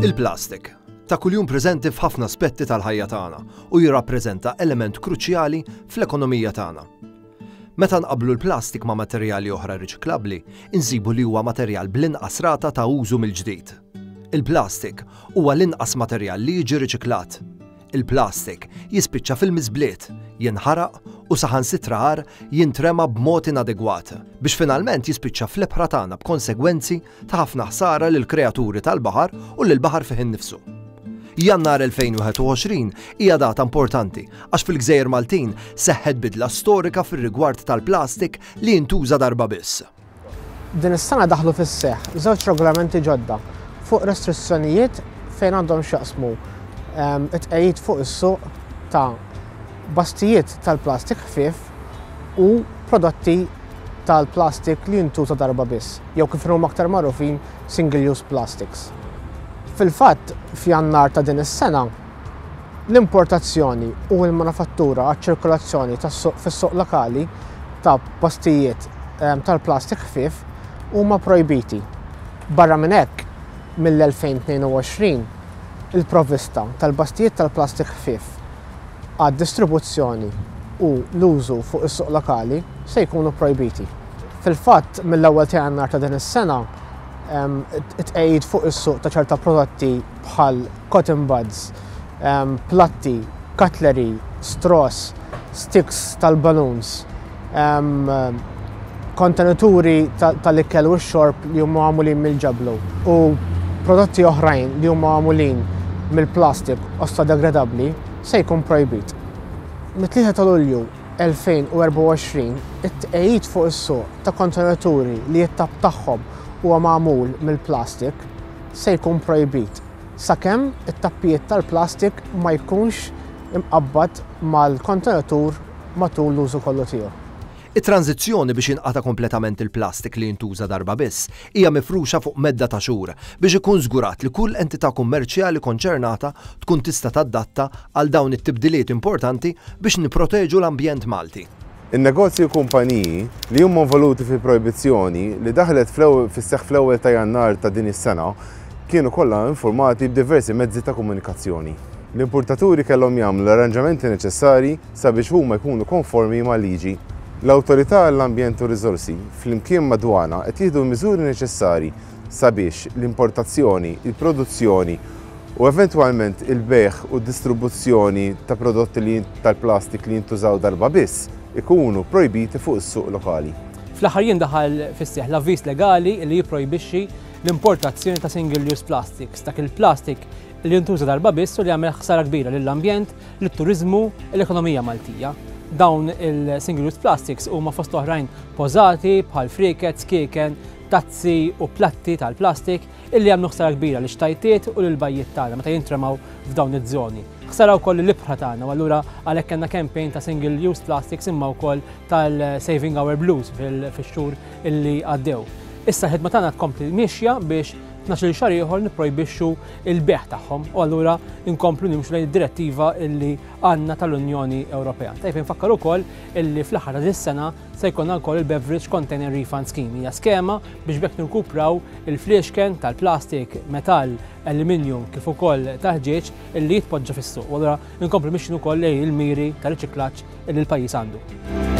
Il-plastik ta' kuljum preżenti f'ħafna aspetti tal-ħajja tagħna u jirrappreżenta element kruċjali fl-ekonomija tagħna. Meta nqabblu l-plastik ma' materjali oħra riċiklabbli, insibu li huwa materjal bl-inqas rata ta' użu mill-ġdid. Il-plastik huwa l-inqas materjal li jiġi riċiklat. Il-plastik jispiċċa fil-miżbliet, jinħaraq u saħansitra agħar jintrema b'mod inadegwat, biex finalment jispiċċa fl-ibħra tagħna b'konsegwenzi ta' ħafna ħsara lill-kreaturi tal-baħar u lill-baħar fih innifsu. Jannar 2021 hija data importanti għax fil-Gżejjer Maltin seħħet bidla storika fir-rigward tal-plastik li jintuża darba biss. Din is-sena daħlu fis-seħħ żewġ regolamenti ġodda fuq restrizzjonijiet fejn għandhom x'jaqsmu ehm, it-tqegħid fuq is-suq ta' bastijiet tal-plastik ħfief u prodotti tal-plastik li jintuża darba biss, jew kif huma aktar magħrufin single-use plastics. Fil-fatt, f'Jannar ta' din is-sena, l-importazzjoni u l-manifattura għaċ-ċirkolazzjoni fis-suq lokali ta' postijiet ehm, tal-plastik ħfief huma projbiti. Barra minn hekk, mill-2022, il-provvista tal-bastijiet tal-plastik ħfief għad-distribuzzjoni u l-użu fuq is-suq lokali se jkunu projbiti. Fil-fatt, mill-ewwel ta' Jannar ta' din is-sena, ehm, it-tqegħid fuq is-suq ta' ċerta prodotti bħal cotton buds, platti, cutlery, straws, sticks tal-balloons, kontenituri tal-ikel u x-xorb li huma magħmulin mill-ġablu u prodotti oħrajn li huma magħmulin mill-plastik ossodegradabbli se jkun projbit. Mit-3 ta' Lulju 2024, it-tqegħid fuq is-suq ta' kontenituri li t-tapp tagħhom huwa magħmul mill-plastik se jkun projbit sakemm it-tappijiet tal-plastik ma jkunx imqabbad mal-kontenitur matul l-użu kollu tiegħu. It-tranżizzjoni biex jinqata' kompletament il-plastik li jintuża darba biss hija mifruxa fuq medda ta' xhur biex ikun żgurat li kull entità kummerċjali konċernata tkun tista' tadatta għal dawn it-tibdiliet importanti biex nipproteġu l-ambjent Malti. In-negozji u kumpaniji li huma involuti fil-projbizzjoni li daħlet fis-seħħ fl-ewwel ta' Jannar ta' din is-sena kienu kollha infurmati b'diversi mezzi ta' komunikazzjoni. L-importaturi kellhom jagħmlu l-arranġamenti neċessarji sabiex huma jkunu konformi mal-liġi. L-Awtorità għall-Ambjent u r-Riżorsi flimkien mad-Dwana qed jieħdu l-miżuri neċessarji sabiex l-importazzjoni, il-produzzjoni u eventwalment il-bejgħ u d-distribuzzjoni ta' prodotti li tal-plastik li jintużaw darba biss ikunu projbiti fuq is-suq lokali. Fl-aħħar jiem daħal fis-seħħ l-avviż legali li jipprojbixxi l-importazzjoni ta' single-use plastics, dak il-plastik li jintuża darba biss u li jagħmel ħsara kbira lill-ambjent, lit-turiżmu, l-ekonomija Maltija. Dawn il-single-use plastics huma fost oħrajn pożati bħal frieket, skieken, tazzi u platti tal-plastik illi jagħmlu ħsara kbira lix-xtajtiet u lill-bajjiet tagħna meta jintremaw f'dawn iż-żoni. Ħsara wkoll lill-ibħra tagħna u allura għalhekk kellna campaign ta' single use plastics imma wkoll tal-Saving Our Blues fix-xhur illi għaddew. Issa l-ħidma tagħna tkompli miexja biex 12-il xahar ieħor nipprojbixxu l-bejgħ tagħhom u allura nkomplu nimxu lejn id-direttiva illi għandna tal-Unjoni Ewropea. Tajjeb infakkar ukoll illi fl-aħħar ta' dis-sena Se jkollna wkoll il-Beverage Container Refund Scheme. Hija skema biex b'hekk nirkupraw il-fliexken tal-plastik, metall, aluminium kif ukoll tal-ħġieġ illi jitpoġġa fis-suq. U allura nkomplu mixjin ukoll lejn il-miri ta' riċiklaġġ illi l-pajjiż għandu.